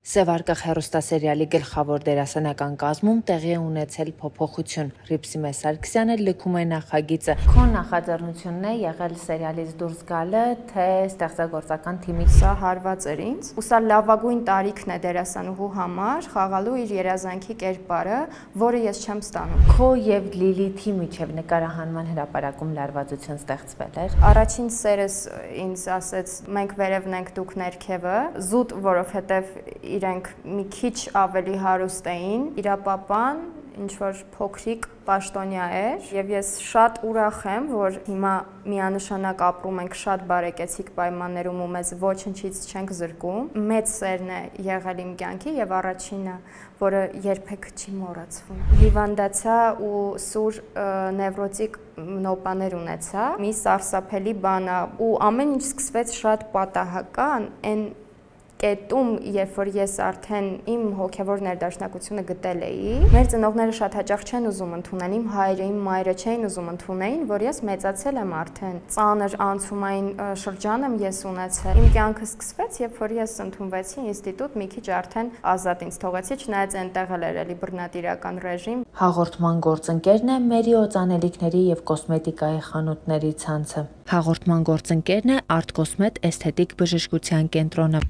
Սևարկղ հեռուստասերիալի գլխավոր դերասանական կազմում տեղի է ունեցել փոփոխություն։ Ռիփսիմե Սարգսյանը լքում է նախագիծը։ Քո նախաձեռնությունն է եղել սերիալից դուրս գալը, թե ստեղծագործական թիմի։ Սա հարված էր ինձ, ու սա լավագույն տարիքն է դերասանուհու համար խաղալու իր երազանքի կերպարը, որը ես չեմ ստանում։ Քո եւ Լիլիթի միջև նկարահանման հրապարակում լարվածություն ստեղծվել էր։ Առաջին սերս ինձ ասեց՝ մենք վերևն ենք, դուք ներքևը, զուտ, որովհետեւ իրենք մի քիչ ավելի հարուստ էին, իրապապան ինչ-որ փոքրիկ պաշտոնյա էր, եւ ես շատ ուրախ եմ, որ հիմա միանշանակ ապրում ենք շատ բարեկեցիկ պայմաններում ու մեզ ոչնչից չենք զրկում։ Մեծ սերն է եղել իմ կյանքի եւ առաջինը, որը երբեք չի մոռացվում։ Հիվանդացա ու սուր նևրոտիկ նոպաներ ունեցա, մի սարսափելի բան է, ու ամեն ինչ սկսվեց շատ պատահական, այն կետում, երբ որ ես արդեն իմ հոգևոր ներդաշնակությունը գտել էի, մեր ծնողները շատ հաճախ չեն ուզում ընդունել, իմ հայրը, իմ մայրը չէին ուզում ընդունեին, որ ես մեծացել եմ արդեն, ծանր անցումային շրջան եմ ես ունեցել։ Իմ կյանքը սկսվեց, երբ որ ես ընդունվեցի ինստիտուտ, մի քիչ արդեն ազատ ինձ թողեցի, չնայած այնտեղ էլ էր էլի բռնատիրական ռեժիմ։ Հաղորդման գործընկերն է Մերի օծանելիքների եւ կոսմետիկայի խանութների ցանցը։ Հաղորդման գործընկերն է Art Cosmet էսթետիկ բժշկության կենտրոնը։